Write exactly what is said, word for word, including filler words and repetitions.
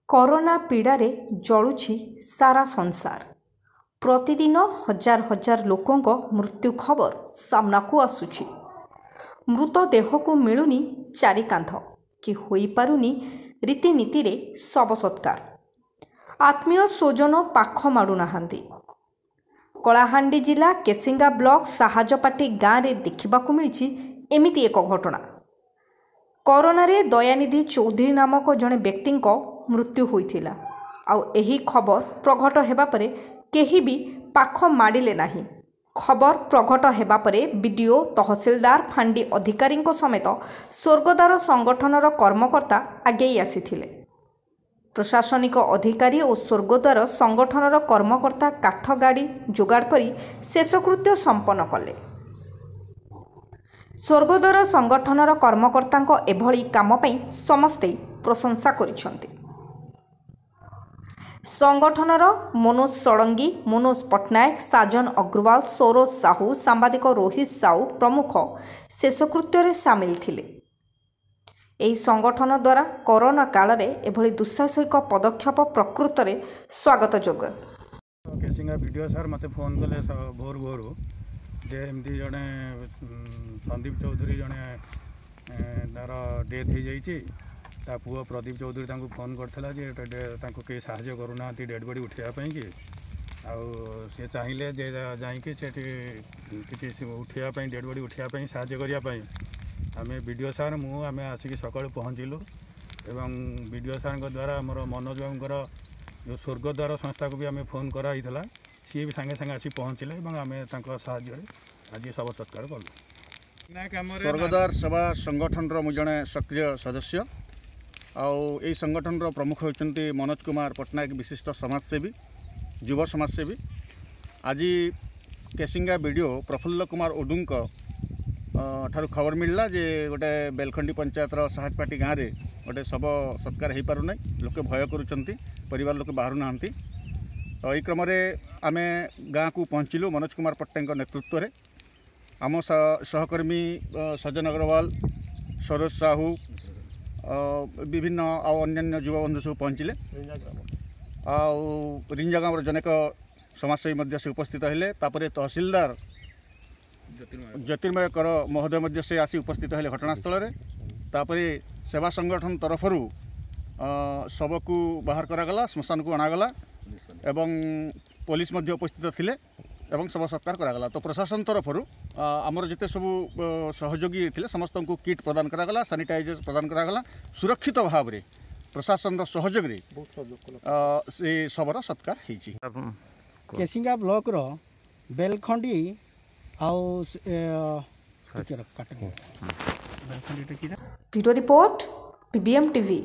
Corona ପୀଡ଼ାରେ ଜଳୁଛି ସାରା ସଂସାର। ପ୍ରତିଦିନ ହଜାର ହଜାର ଲୋକଙ୍କ ମୃତ୍ୟୁ ଖବର ସାମ୍ନାକୁ ଆସୁଛି। ମୃତଦେହକୁ ମିଳୁନି ଚାରି କାନ୍ଧ କି ହୋଇପାରୁନି ରୀତିନୀତିରେ ଶବ ସତ୍କାର। ଆତ୍ମୀୟ ସ୍ୱଜନ ପାଖ ମାଡ଼ୁନାହାନ୍ତି। କଳାହାଣ୍ଡି ଜିଲ୍ଲା କେସିଙ୍ଗା ବ୍ଲକ ସାହାଜପାଟି ଗାଁରେ ଦେଖିବାକୁ ମିଳିଛି ଏମିତି ଏକ ଘଟଣା। କରୋନାରେ ଦୟାନିଧି ଚୌଧୁରୀ ନାମକ ଜଣେ ବ୍ୟକ୍ତିଙ୍କ ମୃତ୍ୟୁ ହୋଇଥିଲା। ଆଉ ଏହି ଖବର ପ୍ରଘଟ ହେବା ପରେ କେହି ବି ପାଖ ମାଡ଼ିଲେ ନାହିଁ। ଖବର ପ୍ରଘଟ ହେବା ପରେ ବିଡିଓ, ତହସିଲଦାର, ଫାଣ୍ଡି ଅଧିକାରୀଙ୍କ ସମେତ ସ୍ୱର୍ଗଦ୍ୱାର ସଂଗଠନର କର୍ମକର୍ତ୍ତା ଆଗେଇ ଆସିଥିଲେ। ପ୍ରଶାସନିକ ଅଧିକାରୀ ଓ ସ୍ୱର୍ଗଦ୍ୱାର ସଂଗଠନର କର୍ମକର୍ତ୍ତା କାଠ ଗାଡ଼ି ଯୋଗାଡ଼ କରି ଶେଷକୃତ୍ୟ ସମ୍ପନ୍ନ କଲେ। ସ୍ୱର୍ଗଦ୍ୱାର ସଂଗଠନର କର୍ମକର୍ତ୍ତାଙ୍କ ଏଭଳି କାମ ପାଇଁ ସମସ୍ତେ ପ୍ରଶଂସା କରିଛନ୍ତି। ସଂଗଠନର ମନୋଜ ଷଡ଼ଙ୍ଗୀ, ମନୋଜ ପଟ୍ଟନାୟକ, ସାଜନ ଅଗ୍ରୱାଲ, ସରୋଜ ସାହୁ, ସାମ୍ବାଦିକ ରୋହିତ ସାହୁ ପ୍ରମୁଖ ଶେଷକୃତ୍ୟରେ ସାମିଲ ଥିଲେ। ଏହି ସଂଗଠନ ଦ୍ୱାରା କରୋନା କାଳରେ ଏଭଳି ଦୁଃସାହସିକ ପଦକ୍ଷେପ ପ୍ରକୃତରେ ସ୍ୱାଗତଯୋଗ୍ୟ। କେସିଙ୍ଗା ବିଡ଼ିଓ ସାର୍ ମୋତେ ଫୋନ୍ କଲେ ଭୋରୁ ଭୋରୁ ଯେ ଏମିତି ଜଣେ ସନ୍ଦୀପ ଚୌଧୁରୀ ଜଣେ ତା'ର ଡେଥ୍ ହେଇଯାଇଛି। ତା ପୁଅ ପ୍ରଦୀପ ଚୌଧୁରୀ ତାଙ୍କୁ ଫୋନ୍ କରିଥିଲା ଯେ ତାଙ୍କୁ କେହି ସାହାଯ୍ୟ କରୁନାହାନ୍ତି ଡେଡ଼୍ ବଡ଼ି ଉଠାଇବା ପାଇଁକି, ଆଉ ସେ ଚାହିଁଲେ ଯେ ଯାଇକି ସେଠି କିଛି ଉଠାଇବା ପାଇଁ, ଡେଡ଼୍ ବଡ଼ି ଉଠାଇବା ପାଇଁ ସାହାଯ୍ୟ କରିବା ପାଇଁ। ଆମେ ବିଡ଼ିଓ ସାର୍, ମୁଁ, ଆମେ ଆସିକି ସକାଳୁ ପହଞ୍ଚିଲୁ ଏବଂ ବିଡ଼ିଓ ସାର୍ଙ୍କ ଦ୍ୱାରା ଆମର ମନୋଜ ବାବୁଙ୍କର ଯେଉଁ ସ୍ୱର୍ଗଦ୍ୱାର ସଂସ୍ଥାକୁ ବି ଆମେ ଫୋନ୍ କରାହେଇଥିଲା, ସିଏ ବି ସାଙ୍ଗେ ସାଙ୍ଗେ ଆସି ପହଞ୍ଚିଲେ ଏବଂ ଆମେ ତାଙ୍କ ସାହାଯ୍ୟରେ ଆଜି ଶବ ସତ୍କାର କଲୁ। ସ୍ୱର୍ଗଦ୍ୱାର ସେବା ସଂଗଠନର ମୁଁ ଜଣେ ସକ୍ରିୟ ସଦସ୍ୟ, ଆଉ ଏଇ ସଂଗଠନର ପ୍ରମୁଖ ହେଉଛନ୍ତି ମନୋଜ କୁମାର ପଟ୍ଟନାୟକ, ବିଶିଷ୍ଟ ସମାଜସେବୀ, ଯୁବ ସମାଜସେବୀ। ଆଜି କେସିଙ୍ଗା ବିଡ଼ିଓ ପ୍ରଫୁଲ୍ଲ କୁମାର ଉଡୁଙ୍କ ଠାରୁ ଖବର ମିଳିଲା ଯେ ଗୋଟେ ବେଲଖଣ୍ଡି ପଞ୍ଚାୟତର ସାହାଜପାଟି ଗାଁରେ ଗୋଟେ ଶବ ସତ୍କାର ହୋଇପାରୁନାହିଁ, ଲୋକେ ଭୟ କରୁଛନ୍ତି, ପରିବାର ଲୋକେ ବାହାରୁନାହାନ୍ତି। ତ ଏହି କ୍ରମରେ ଆମେ ଗାଁକୁ ପହଞ୍ଚିଲୁ ମନୋଜ କୁମାର ପଟ୍ଟନାୟକଙ୍କ ନେତୃତ୍ୱରେ। ଆମ ସହକର୍ମୀ ସଜ୍ଜନ ଅଗ୍ରୱାଲ, ସରୋଜ ସାହୁ, ବିଭିନ୍ନ ଆଉ ଅନ୍ୟାନ୍ୟ ଯୁବବନ୍ଧୁ ସବୁ ପହଞ୍ଚିଲେ, ଆଉ ରିଞ୍ଜା ଗ୍ରାମର ଜଣେକ ସମାଜସେବୀ ମଧ୍ୟ ସେ ଉପସ୍ଥିତ ହେଲେ। ତାପରେ ତହସିଲଦାର ଜ୍ୟୋତିର୍ମୟ କର ମହୋଦୟ ମଧ୍ୟ ସେ ଆସି ଉପସ୍ଥିତ ହେଲେ ଘଟଣାସ୍ଥଳରେ। ତାପରେ ସେବା ସଂଗଠନ ତରଫରୁ ଶବକୁ ବାହାର କରାଗଲା, ଶ୍ମଶାନକୁ ଅଣାଗଲା ଏବଂ ପୋଲିସ ମଧ୍ୟ ଉପସ୍ଥିତ ଥିଲେ ଏବଂ ଶବ ସତ୍କାର କରାଗଲା। ତ ପ୍ରଶାସନ ତରଫରୁ ଆମର ଯେତେ ସବୁ ସହଯୋଗୀ ଥିଲେ ସମସ୍ତଙ୍କୁ କିଟ୍ ପ୍ରଦାନ କରାଗଲା, ସାନିଟାଇଜର ପ୍ରଦାନ କରାଗଲା। ସୁରକ୍ଷିତ ଭାବରେ ପ୍ରଶାସନର ସହଯୋଗରେ ସେ ଶବର ସତ୍କାର ହେଇଛି। କେସିଙ୍ଗା ବ୍ଲକର ବେଲଖଣ୍ଡି ଆଉ ବ୍ୟୁରୋ ରିପୋର୍ଟ, ପିବିଏମ୍ ଟିଭି।